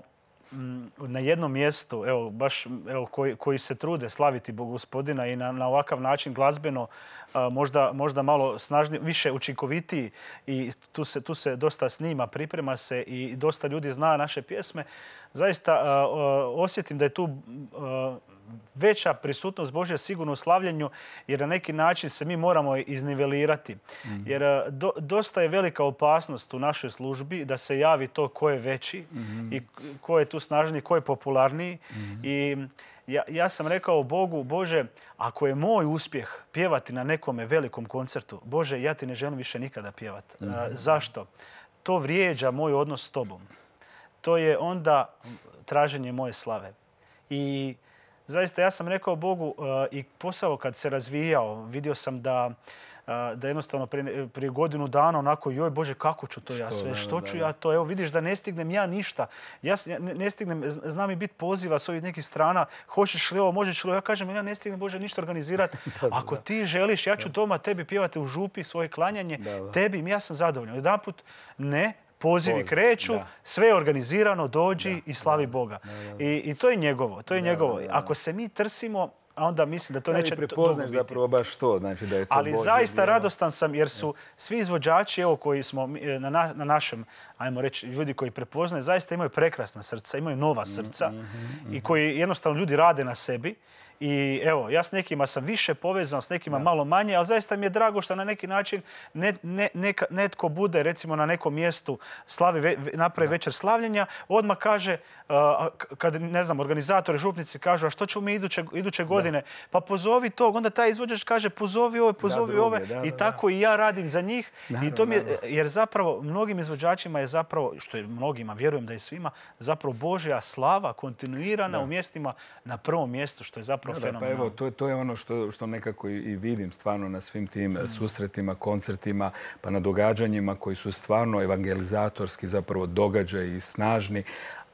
na jednom mjestu, evo, baš evo, koji, koji se trude slaviti Bogu Gospodina i na, na ovakav način glazbeno, a, možda, možda malo snažnije, više učinkovitiji i tu se, tu se dosta snima, priprema se i dosta ljudi zna naše pjesme. Zaista a, a, osjetim da je tu a, veća prisutnost Božja sigurno u slavljenju jer na neki način se mi moramo iznivelirati. Mm-hmm. Jer do, dosta je velika opasnost u našoj službi da se javi to ko je veći mm-hmm. i ko je tu snažniji, ko je popularniji. Mm-hmm. I ja, ja sam rekao Bogu, Bože, ako je moj uspjeh pjevati na nekome velikom koncertu, Bože, ja ti ne želim više nikada pjevati. Mm-hmm. Zašto? To vrijeđa moj odnos s tobom. To je onda traženje moje slave. I zaista ja sam rekao Bogu i posao kad se razvijao, vidio sam da da jednostavno prije, prije godinu dana onako, joj Bože, kako ću to ja sve, da, što da, ću da. ja to, evo vidiš da ne stignem ja ništa. Ja ne, ne stignem, znam i biti poziva s ovih nekih strana, hoćeš li ovo, možeš li ovo, ja kažem, ja ne stignem Bože ništa organizirati. Ako ti želiš, ja ću doma tebi pjevati u župi svoje klanjanje, da, da. tebi, ja sam zadovoljan. Jedanput ne, pozivi Poziv, kreću, da. sve je organizirano, dođi da, i slavi da, Boga. Da, da. I, I to je njegovo, to je da, njegovo. Da, da. Ako se mi trsimo, a onda mislim da to da neće dugo biti. Prepoznaš zapravo baš to, znači da je to Ali Božje zaista djelo. Radostan sam jer su svi izvođači evo, koji smo na, na, na našem, ajmo reći, ljudi koji prepoznaju, zaista imaju prekrasna srca, imaju nova srca mm, mm, mm, i koji jednostavno ljudi rade na sebi. I evo, ja s nekima sam više povezan, s nekima da. malo manje, ali zaista mi je drago što na neki način ne, ne, neka, netko bude recimo na nekom mjestu slavi, ve, napravi da. večer slavljenja, odmah kaže, uh, kad ne znam, organizatori, župnici kažu, a što ćemo mi iduće, iduće godine? Da. Pa pozovi tog, onda taj izvođač kaže pozovi ove, pozovi da, ove da, da, i tako da. i ja radim za njih. Naravno, I to mi je, jer zapravo mnogim izvođačima je zapravo, što je mnogima, vjerujem da je svima, zapravo Božja slava kontinuirana da. u mjestima na prvom mjestu, što je zapravo Da, pa evo, to, to je ono što, što nekako i, i vidim stvarno na svim tim mm. susretima, koncertima, pa na događanjima koji su stvarno evangelizatorski zapravo događaji i snažni.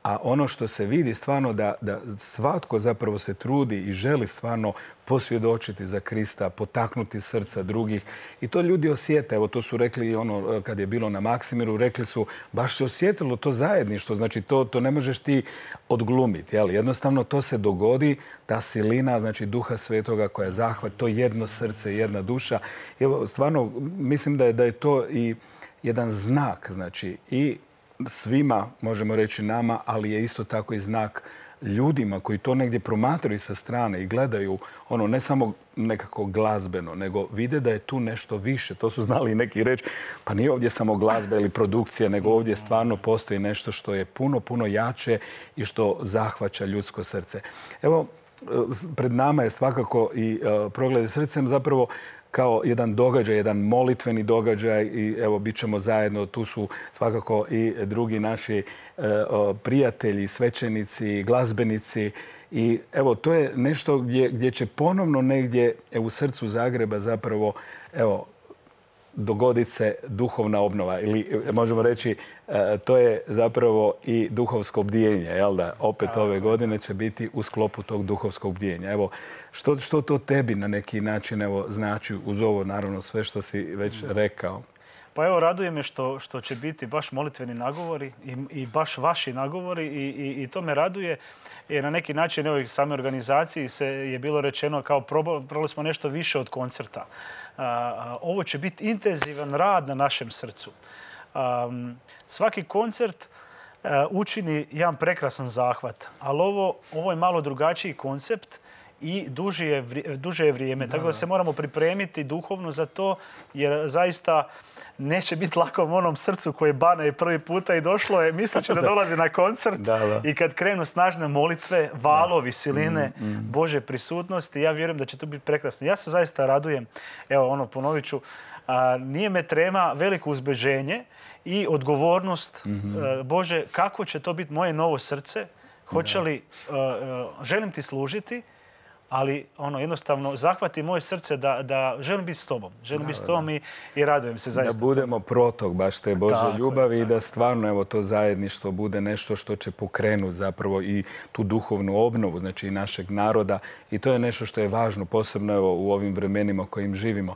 A ono što se vidi stvarno da, da svatko zapravo se trudi i želi stvarno posvjedočiti za Krista, potaknuti srca drugih. I to ljudi osjete. Evo to su rekli ono kad je bilo na Maksimiru, rekli su baš se osjetilo to zajedništvo. Znači to, to ne možeš ti odglumiti. Jel? Jednostavno to se dogodi, ta silina, znači Duha Svetoga koja je zahvat, to jedno srce, jedna duša. Evo stvarno mislim da je, da je to i jedan znak, znači i svima, možemo reći nama, ali je isto tako i znak ljudima koji to negdje promatraju sa strane i gledaju ono ne samo nekako glazbeno, nego vide da je tu nešto više. To su znali i neki reći, pa nije ovdje samo glazba ili produkcija, nego ovdje stvarno postoji nešto što je puno, puno jače i što zahvaća ljudsko srce. Evo, pred nama je svakako i uh, Progledi srcem zapravo kao jedan događaj, jedan molitveni događaj i evo bit ćemo zajedno. Tu su svakako i drugi naši e, o, prijatelji, svećenici, glazbenici i evo to je nešto gdje, gdje će ponovno negdje e, u srcu Zagreba zapravo evo dogoditi se duhovna obnova ili možemo reći e, to je zapravo i duhovsko bdijenje, jel da? Opet ove godine će biti u sklopu tog duhovskog bdijenja. Evo, što, što to tebi na neki način evo, znači uz ovo naravno sve što si već rekao? Pa evo, raduje me što, što će biti baš molitveni nagovori i, i baš vaši nagovori i, i, i to me raduje. Jer na neki način evo, i same organizaciji se je bilo rečeno kao probali smo nešto više od koncerta. A, a, ovo će biti intenzivan rad na našem srcu. A, svaki koncert a, učini jedan prekrasan zahvat, ali ovo, ovo je malo drugačiji koncept i duže je, duže je vrijeme. Da. Tako da se moramo pripremiti duhovno za to, jer zaista neće biti lako u onom srcu koje Bana je prvi puta i došlo je, misleći da dolazi na koncert da, da. i kad krenu snažne molitve, valovi, siline mm, mm. Bože prisutnosti, ja vjerujem da će to biti prekrasno. Ja se zaista radujem, evo ono ponovit ću, a, nije me trema veliko uzbeđenje i odgovornost, mm-hmm. a, Bože, kako će to biti moje novo srce, hoće li, a, a, želim ti služiti, ali ono jednostavno zahvati moje srce da, da želim biti s tobom. Želim da, biti s tobom i, i radujem se zaista. Da budemo protok baš te Božje tako ljubavi je, i da stvarno evo, to zajedništvo bude nešto što će pokrenuti zapravo i tu duhovnu obnovu, znači i našeg naroda. I to je nešto što je važno, posebno evo, u ovim vremenima kojim živimo.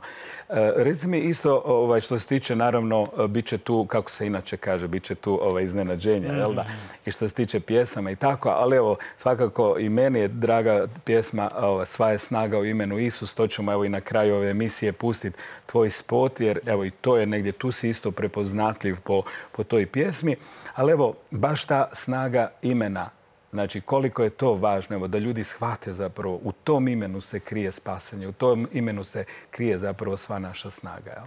E, reci mi isto ovaj, što se tiče, naravno, bit će tu, kako se inače kaže, bit će tu ovaj, iznenađenja, mm. jel da? I što se tiče pjesama i tako, ali evo, svakako i meni je draga pjesma Sva je snaga u imenu Isus, to ćemo evo i na kraju ove emisije pustiti tvoj spot, jer evo i to je negdje, tu si isto prepoznatljiv po, po toj pjesmi. Ali evo, baš ta snaga imena, znači koliko je to važno, evo, da ljudi shvate zapravo u tom imenu se krije spasanje, u tom imenu se krije zapravo sva naša snaga. Jel?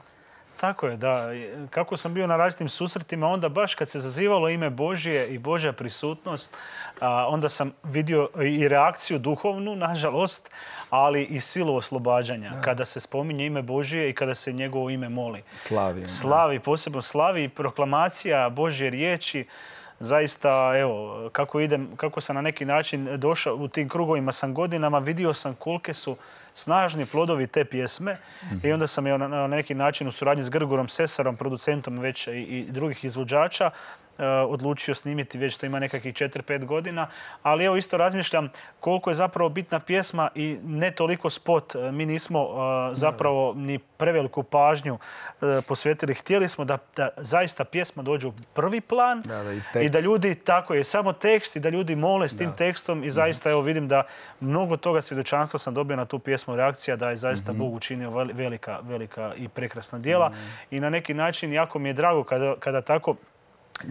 Tako je, da. Kako sam bio na različitim susretima, onda baš kad se zazivalo ime Božje i Božja prisutnost, onda sam vidio i reakciju duhovnu, nažalost, ali i silu oslobađanja. Da. Kada se spominje ime Božje i kada se njegovo ime moli. Slavi. Slavi, posebno slavi i proklamacija Božje riječi. zaista, evo, kako idem, kako sam na neki način došao u tim krugovima sam godinama, vidio sam kolike su snažni plodovi te pjesme mm-hmm. i onda sam je na neki način u suradnji s Grgorom Sesarom, producentom već i, i drugih izvođača, Uh, odlučio snimiti, već to ima nekakvih četiri pet godina, ali evo isto razmišljam koliko je zapravo bitna pjesma i ne toliko spot. Mi nismo uh, zapravo ni preveliku pažnju uh, posvetili. Htjeli smo da, da zaista pjesma dođe u prvi plan da, da, i, i da ljudi, tako je, samo tekst i da ljudi mole s tim da. tekstom i zaista evo vidim da mnogo toga svjedočanstva sam dobio na tu pjesmu, reakcija da je zaista mm-hmm. Bog učinio velika, velika i prekrasna djela mm-hmm. i na neki način jako mi je drago kada, kada tako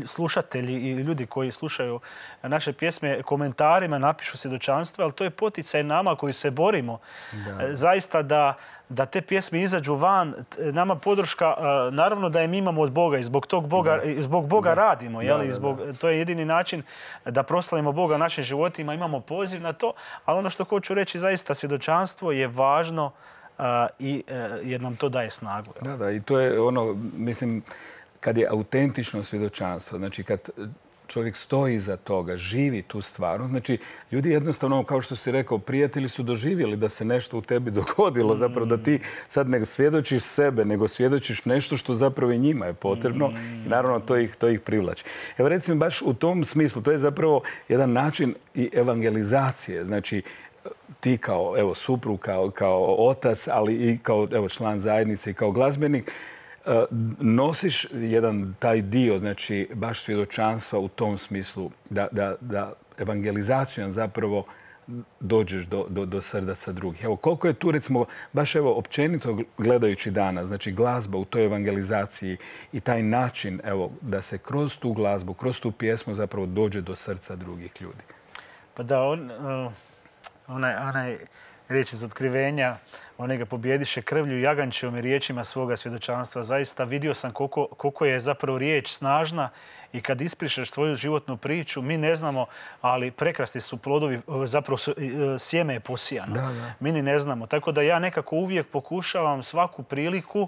slušatelji i ljudi koji slušaju naše pjesme komentarima napišu svjedočanstva, ali to je poticaj nama koji se borimo. Da. Zaista da, da te pjesme izađu van, nama podrška, naravno da je mi imamo od Boga i zbog tog Boga, da. zbog Boga da. radimo. Da, jeli? Zbog, da, da. To je jedini način da proslavimo Boga našim životima, imamo poziv na to, ali ono što hoću reći, zaista svjedočanstvo je važno uh, i, uh, jer nam to daje snagu. Da, da, i to je ono, mislim, kad je autentično svjedočanstvo, znači kad čovjek stoji iza toga, živi tu stvarnost, znači ljudi jednostavno, kao što si rekao, prijatelji su doživjeli da se nešto u tebi dogodilo, zapravo da ti sad ne svjedočiš sebe, nego svjedočiš nešto što zapravo i njima je potrebno i naravno to ih, to ih privlači. Evo recimo baš u tom smislu, to je zapravo jedan način i evangelizacije, znači ti kao evo, suprug, kao, kao otac, ali i kao evo, član zajednice i kao glazbenik, nosiš jedan taj dio, znači baš svjedočanstva u tom smislu da, da, da evangelizacijom zapravo dođeš do, do, do srdaca drugih. Evo, koliko je tu, recimo, baš evo, općenito gledajući danas, znači glazba u toj evangelizaciji i taj način, evo, da se kroz tu glazbu, kroz tu pjesmu zapravo dođe do srca drugih ljudi. Pa da, on, uh, onaj, onaj riječ iz otkrivenja, one ga pobjediše krvlju i jagančevim riječima svoga svjedočanstva. Zaista vidio sam koliko, koliko je zapravo riječ snažna i kad ispričaš svoju životnu priču, mi ne znamo, ali prekrasni su plodovi, zapravo sjeme je posijano. Da, da. Mi ni ne znamo. Tako da ja nekako uvijek pokušavam svaku priliku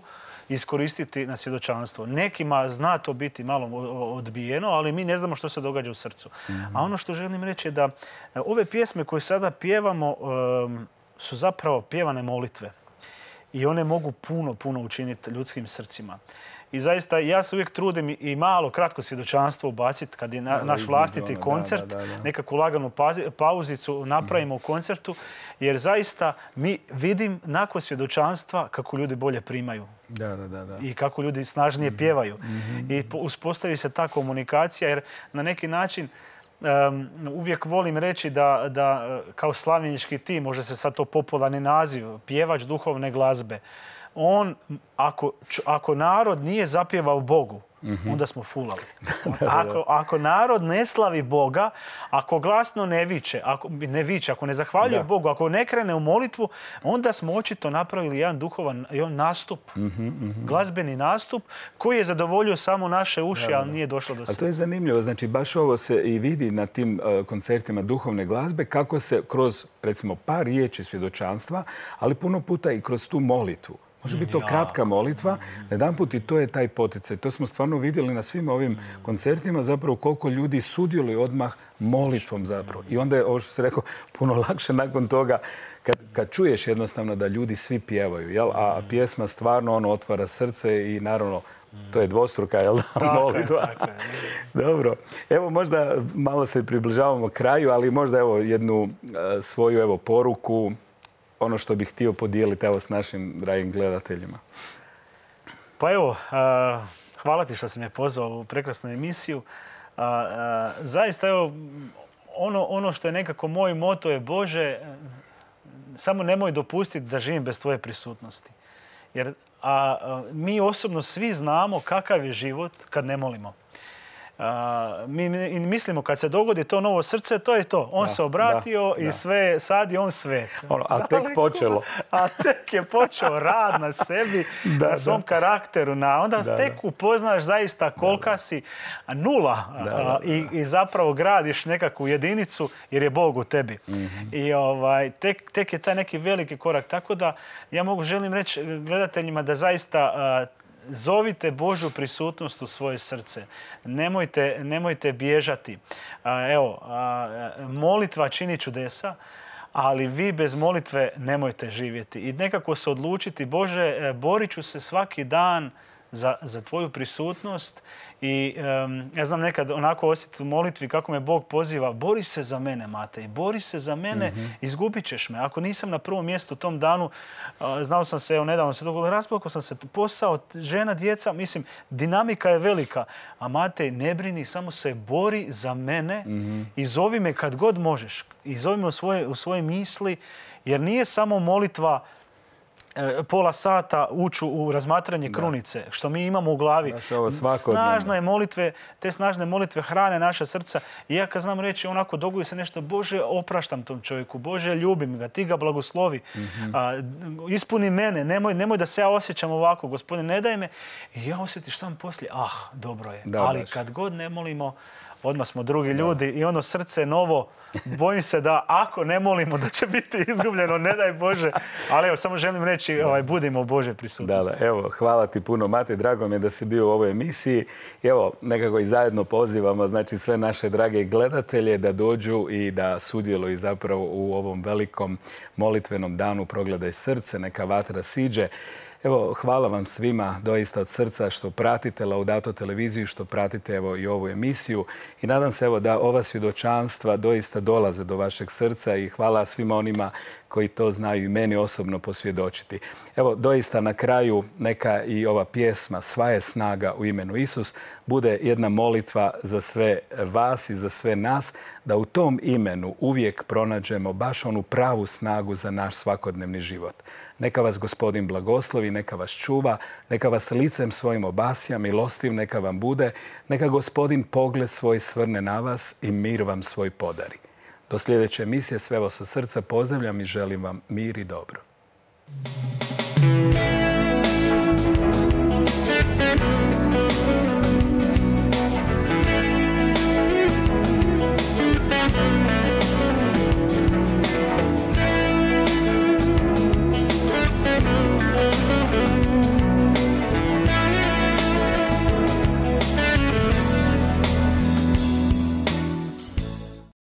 iskoristiti na svjedočanstvo. Nekima zna to biti malo odbijeno, ali mi ne znamo što se događa u srcu. Mm-hmm. A ono što želim reći je da ove pjesme koje sada pjevamo um, su zapravo pjevane molitve. I one mogu puno, puno učiniti ljudskim srcima. I zaista ja se uvijek trudim i malo kratko svjedočanstvo ubaciti kad je na, naš vlastiti ono, koncert, da, da, da. nekakvu laganu pauzicu napravimo u koncertu, jer zaista mi vidim nakon svjedočanstva kako ljudi bolje primaju. Da, da, da, da. I kako ljudi snažnije mm-hmm. pjevaju. Mm-hmm. I uspostavi se ta komunikacija, jer na neki način Um, uvijek volim reći da, da kao slavljenički tim, može se sad to popularni naziv, pjevač duhovne glazbe, on, ako, ako narod nije zapjevao Bogu, mm-hmm. onda smo fulali. Ako, ako narod ne slavi Boga, ako glasno ne viče, ako ne viče, ako ne zahvaljuje da. Bogu, ako ne krene u molitvu, onda smo očito napravili jedan duhovan jedan nastup, mm-hmm, mm-hmm. glazbeni nastup, koji je zadovoljio samo naše uši, da, da, da. ali nije došlo do srca. Ali to je zanimljivo, znači baš ovo se i vidi na tim uh, koncertima duhovne glazbe, kako se kroz, recimo, par riječi svjedočanstva, ali puno puta i kroz tu molitvu. Može biti to kratka molitva, jedanput i to je taj poticaj. To smo stvarno vidjeli na svim ovim koncertima, zapravo koliko ljudi sudjeluju odmah molitvom zapravo. I onda je, ovo što se rekao, puno lakše nakon toga kad, kad čuješ jednostavno da ljudi svi pjevaju, jel? A pjesma stvarno ono otvara srce i naravno to je dvostruka, jel da, molitva. Tako je, tako je. Dobro. Evo možda malo se približavamo kraju, ali možda evo jednu uh, svoju evo poruku, ono što bih htio podijeliti evo s našim dragim gledateljima. Pa evo, hvala ti što si me pozvao u prekrasnu emisiju. Zaista evo, ono, ono što je nekako moj moto je Bože, samo nemoj dopustiti da živim bez tvoje prisutnosti. Jer a, a, mi osobno svi znamo kakav je život kad ne molimo. Uh, mi mislimo kad se dogodi to novo srce, to je to. On da, se obratio da, i da. sve, sad je on sve. Ono, a tek Daleko, počelo. A tek je počeo rad na sebi, da, na svom da. karakteru. Na, onda da, tek da. upoznaš zaista kolika da, si nula da, da, da. I, i zapravo gradiš nekakvu jedinicu jer je Bog u tebi. Mm-hmm. I ovaj, tek, tek je taj neki veliki korak. Tako da ja mogu želim reći gledateljima da zaista uh, Zovite Božju prisutnost u svoje srce. Nemojte, nemojte bježati. Evo, molitva čini čudesa, ali vi bez molitve nemojte živjeti. I nekako se odlučiti, Bože, borit ću se svaki dan za, za tvoju prisutnost i um, ja znam nekad onako osjetiti u molitvi kako me Bog poziva, bori se za mene, Matej, bori se za mene, mm-hmm. izgubit ćeš me. Ako nisam na prvom mjestu u tom danu, uh, znao sam se, evo nedavno se dogodilo, rasplakao sam se, posao, žena, djeca, mislim, dinamika je velika. A Matej, ne brini, samo se bori za mene mm-hmm. i zovi me kad god možeš. I zovi me u svoje, u svoje misli, jer nije samo molitva pola sata uću u razmatranje krunice, da. Što mi imamo u glavi. Snažne molitve, te snažne molitve hrane naša srca. I ja kad znam reći onako, dogodi se nešto, Bože, opraštam tom čovjeku, Bože, ljubim ga, ti ga blagoslovi, mm-hmm. a, ispuni mene, nemoj, nemoj da se ja osjećam ovako, Gospodine, ne daj me. I ja osjetiš sam poslije, ah, dobro je. Da, ali baš. Kad god ne molimo, odmah smo drugi ljudi i ono srce novo, bojim se da ako ne molimo da će biti izgubljeno, ne daj Bože. Ali evo, samo želim reći, ovaj, budimo u Božoj prisutnosti. Da, da, evo, hvala ti puno, Matej, drago mi je da si bio u ovoj emisiji. Evo, nekako i zajedno pozivamo, znači, sve naše drage gledatelje da dođu i da sudjeluju zapravo u ovom velikom molitvenom danu Progledaj srce, neka vatra siđe. Evo, hvala vam svima doista od srca što pratite Laudato televiziju, što pratite evo i ovu emisiju i nadam se evo da ova svjedočanstva doista dolaze do vašeg srca i hvala svima onima koji to znaju i meni osobno posvjedočiti. Evo, doista na kraju neka i ova pjesma Sva je snaga u imenu Isus bude jedna molitva za sve vas i za sve nas, da u tom imenu uvijek pronađemo baš onu pravu snagu za naš svakodnevni život. Neka vas Gospodin blagoslovi, neka vas čuva, neka vas licem svojim obasja, milostiv neka vam bude, neka Gospodin pogled svoj svrne na vas i mir vam svoj podari. Do sljedeće emisije sve vas od srca pozdravljam i želim vam mir i dobro.